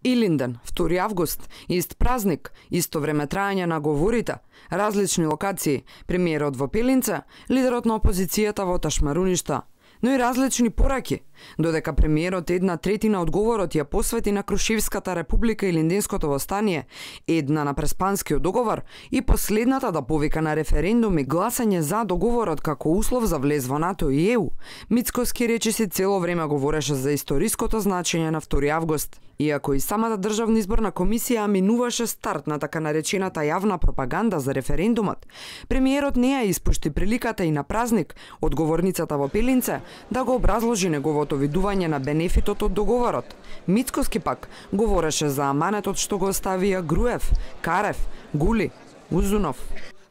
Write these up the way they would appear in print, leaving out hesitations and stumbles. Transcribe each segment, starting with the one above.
Илинден, 2 август, ист празник, исто време трајање на говорите, различни локации, премиерот во Пелинце, лидерот на опозицијата во Ташмаруништа, но и различни пораки, додека премиерот 1/3 одговорот ја посвети на Крушевската република и Линденското востание, 1 на Преспанскиот договор и последната да повика на референдум и гласање за договорот како услов за влез во НАТО и ЕУ, Мицкоски речиси цело време говореше за историското значење на 2 август. Иако и самата државна изборна комисија минуваше старт на така наречената јавна пропаганда за референдумот, премиерот не ја испушти приликата и на празник одговорницата во Пелинце да го образложи неговото видување на бенефитот од договорот. Мицкоски пак говореше за аманетот што го оставија Груев, Карев, Гули, Узунов.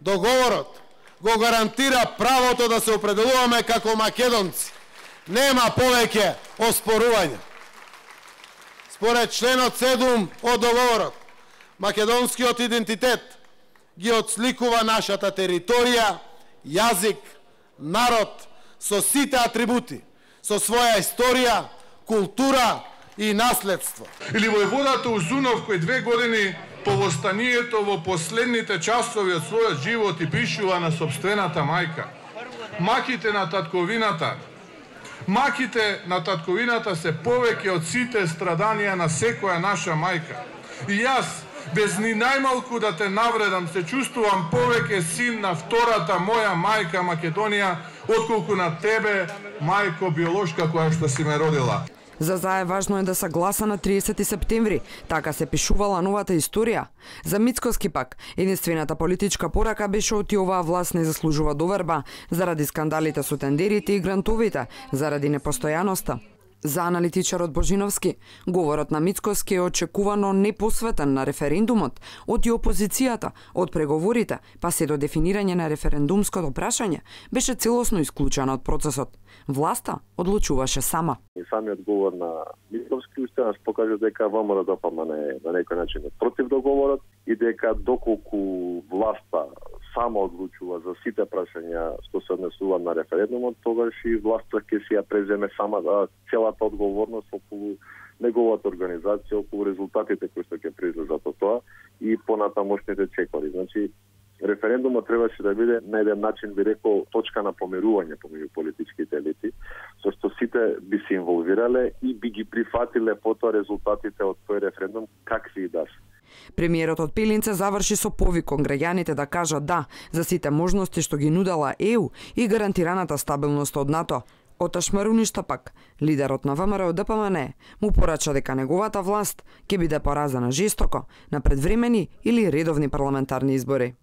Договорот го гарантира правото да се определуваме како македонци. Нема повеќе оспорување. Според членот 7 од договорот, македонскиот идентитет ги отсликува нашата територија, јазик, народ со сите атрибути, со своја историја, култура и наследство. Или војводата Узунов кој 2 години по востанието во последните часови од својот живот и пишува на сопствената мајка. Маките на татковината. Маките на татковината се повеќе од сите страданија на секоја наша мајка. И јас, без ни најмалку да те навредам, се чувствувам повеќе син на втората моја мајка Македонија, отколку на тебе, мајко биолошка која што си ме родила. За ЗАЕ важно е да се гласа на 30 септември, така се пишувала новата историја. За Мицкоски пак, единствената политичка порака беше оти оваа власт не заслужува доверба, заради скандалите со тендерите и грантовите, заради непостојаноста. За аналитичарот Божиновски, говорот на Мицкоски е очекувано непосветен на референдумот, од и опозицијата, од преговорите, па се до дефинирање на референдумското прашање, беше целосно исклучен од процесот. Власта одлучуваше сама. И самиот говор на Мицкоски уште нас покажа дека ВМРО-ДПМН на некој начин е против договорот и дека доколку власта само одлучува за сите прашања што се однесуваат на референдумот, тогаш и власта ќе си ја преземе сама целата одговорност околу неговата организација, околу резултатите кои што ќе произлезат од тоа и понатамошните чекори. Значи, референдумот требаше да биде на еден начин, би рекол, точка на помирување помеѓу политичките елити, со што сите би се инволвирале и би ги прифатиле потоа резултатите од тој референдум какви и да се. Премиерот од Пелинце заврши со повик кон граѓаните да кажат да за сите можности што ги нудела ЕУ и гарантираната стабилност од НАТО. Од Ташмаруништа пак, лидерот на ВМРО-ДПМН му порача дека неговата власт ќе биде поразена жестоко на предвремени или редовни парламентарни избори.